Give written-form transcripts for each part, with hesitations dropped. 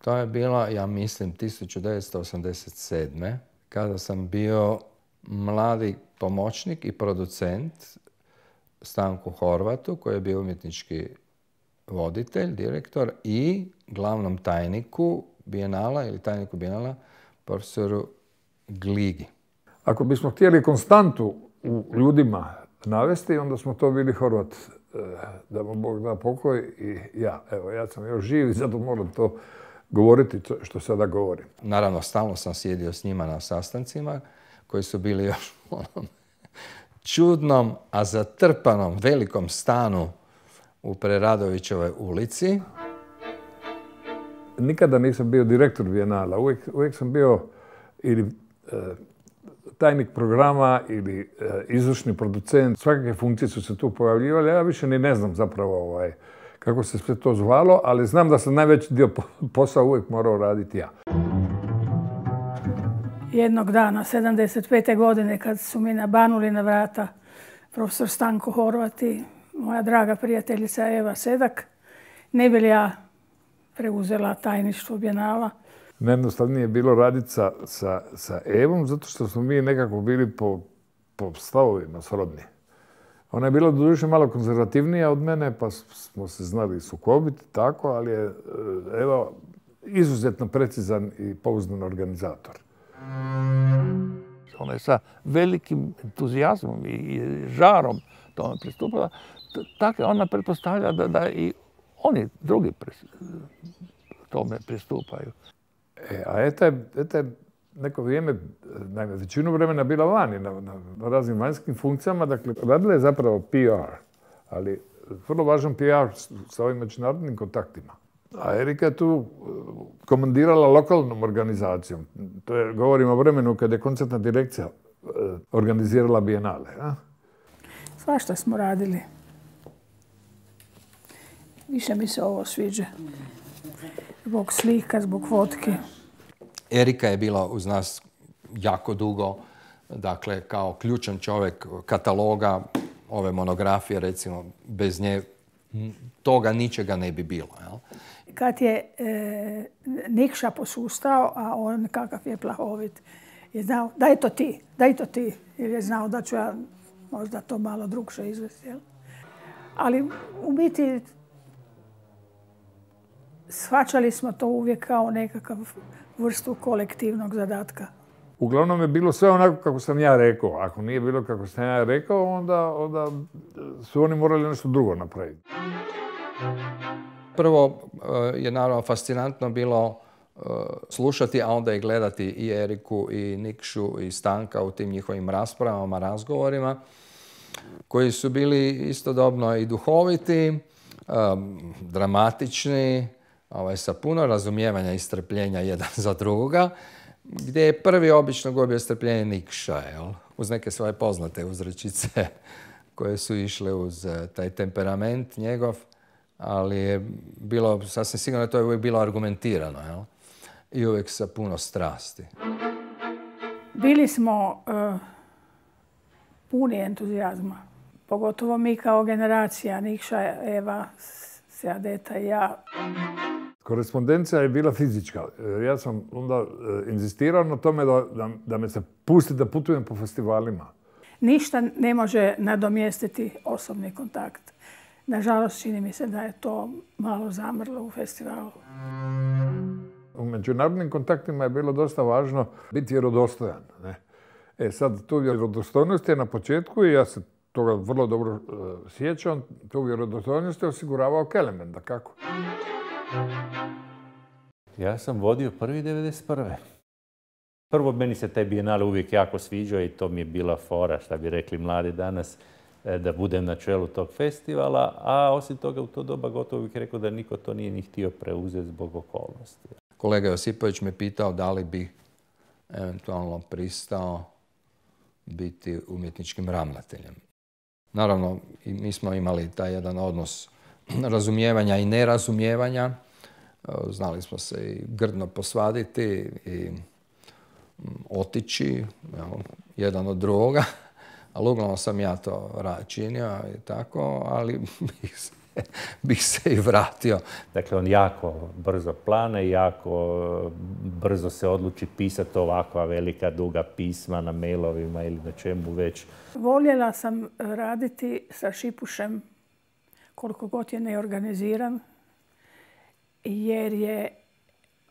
To je bila, ja mislim, 1987. kada sam bio mladi pomoćnik i producent Stanku Horvatu, koji je bio umjetnički voditelj, direktor, i glavnom tajniku Bijenala ili tajniku Bijenala, profesoru Gligi. Ako bismo htjeli konstantu u ljudima navesti, onda smo to bili Horvat, da mu Bog da pokoj, i ja. Evo, ja sam još živ i zato moram to govoriti što sada govorim. Naravno, stalno sam sjedio s njima na sastancima koji su bili još u onom čudnom, a zatrpanom velikom stanu u Preradovićevoj ulici. Nikada nisam bio direktor Bijenala, uvijek sam bio ili tajnik programa ili izvršni producent. Svakakve funkcije su se tu pojavljivale. Ja više ni ne znam zapravo kako se sve to zvalo, ali znam da sam najveći dio posla uvijek morao raditi ja. Jednog dana, 75. godine, kad su mi nabanuli na vrata profesor Stanko Horvat i moja draga prijateljica Eva Sedak, ne bi li ja preuzela tajništvo Bijenala. Najjednostavnije je bilo raditi sa Evom, zato što smo mi nekako bili po stavovima srodni. Ona je bila doduše malo konzervativnija od mene, pa smo se znali sukobiti, tako, ali je Eva izuzetno precizan i pouzdan organizator. Ona je sa velikim entuzijazmom i žarom tome pristupila. Tako ona pretpostavlja da i oni drugi tome pristupaju. A Eta je neko vrijeme, naime, većinu vremena bila vani na raznim vanjskim funkcijama, dakle, radila je zapravo PR, ali vrlo važan PR sa ovim međunarodnim kontaktima. A Erika je tu komandirala lokalnom organizacijom. Govorimo o vremenu kada je koncertna direkcija organizirala Bijenale. Svašta smo radili. Više mi se ovo sviđa. Zbog slika, zbog fotke. Erika je bila uz nas jako dugo, dakle, kao ključan čovjek kataloga, ove monografije, recimo, bez nje toga ničega ne bi bilo. Jel? Kad je Nikša posustao, a on kakav je plahovit, je znao, daj to ti, jer je znao da ću ja možda to malo drugše izvesti. Jel? Ali u biti shvaćali smo to uvijek kao nekakav vrstu kolektivnog zadatka. Uglavnom je bilo sve onako kako sam ja rekao. Ako nije bilo kako sam ja rekao, onda su oni morali nešto drugo napraviti. Prvo je naravno fascinantno bilo slušati, a onda i gledati i Eriku, i Nikšu, i Stanka u tim njihovim raspravama, razgovorima, koji su bili istodobno i duhoviti, dramatični, sa puno razumijevanja i strpljenja jedan za drugoga, gdje je prvi obično gubio strpljenje Nikša, jel? Uz neke svoje poznate uzrečice koje su išle uz taj temperament njegov, ali je bilo, sasvim sigurno, to je uvijek bilo argumentirano, jel? I uvijek sa puno strasti. Bili smo puni entuzijazma, pogotovo mi kao generacija, Nikša, Eva, Seadeta i ja. Korespondencija je bila fizička. Ja sam onda inzistirao na tome da me se pusti da putujem po festivalima. Ništa ne može nadomjestiti osobni kontakt. Nažalost, čini mi se da je to malo zamrlo u festivalu. U međunarodnim kontaktima je bilo dosta važno biti vjerodostojan. Ne? Sad, tu vjerodostojnost je na početku, i ja se toga vrlo dobro sjećam, tu vjerodostojnost je osiguravao Kelemen, dakako. Ja sam vodio prvi 91. Prvo, meni se taj Bijenale uvijek jako sviđao i to mi je bila fora, šta bi rekli mladi danas, da budem na čelu tog festivala, a osim toga u to doba gotovo bih rekao da niko to nije ni htio preuzeti zbog okolnosti. Kolega Josipović me pitao da li bi eventualno pristao biti umjetničkim ravnateljem. Naravno, i mi smo imali taj jedan odnos razumijevanja i nerazumijevanja. Znali smo se i grdno posvaditi i otići jedan od drugoga. Ali uglavnom sam ja to činio i tako, ali bih se i vratio. Dakle, on jako brzo plane, jako brzo se odluči pisati ovakva velika, duga pisma na mailovima ili na čemu već. Voljela sam raditi sa Šipušem koliko god je neorganiziran, jer je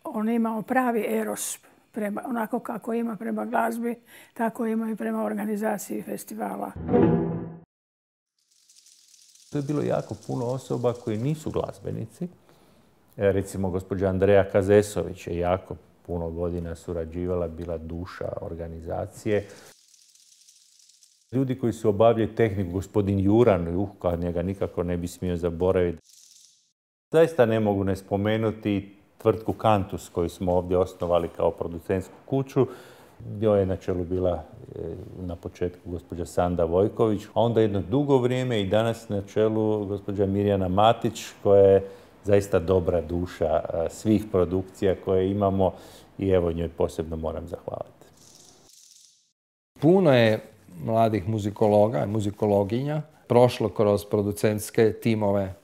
on imao pravi eros, onako kako ima prema glazbi, tako ima i prema organizaciji festivala. To je bilo jako puno osoba koji nisu glazbenici. Recimo, gospođa Andreja Kazesović je jako puno godina surađivala, bila duša organizacije. Ljudi koji su obavljali tehniku, gospodin Juran, njega nikako ne bi smio zaboraviti. Zaista ne mogu ne spomenuti tvrtku Kantus koju smo ovdje osnovali kao producentsku kuću. Njoj je na čelu bila na početku gospođa Sanda Vojković, a onda jedno dugo vrijeme i danas na čelu gospođa Mirjana Matić, koja je zaista dobra duša svih produkcija koje imamo i evo njoj posebno moram zahvaliti. Puno je mladih muzikologa i muzikologinja prošlo kroz producentske timove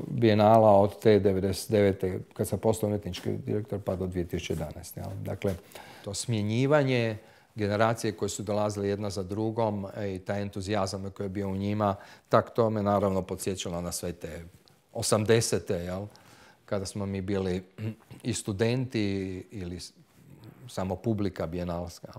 Bijenala od te 99. kad sam postao umjetnički direktor pa do 2011. Dakle, to smjenjivanje generacije koje su dolazile jedna za drugom i taj entuzijazam koji je bio u njima, tak to me naravno podsjećalo na sve te 80. Kada smo mi bili i studenti ili samo publika bijenalska.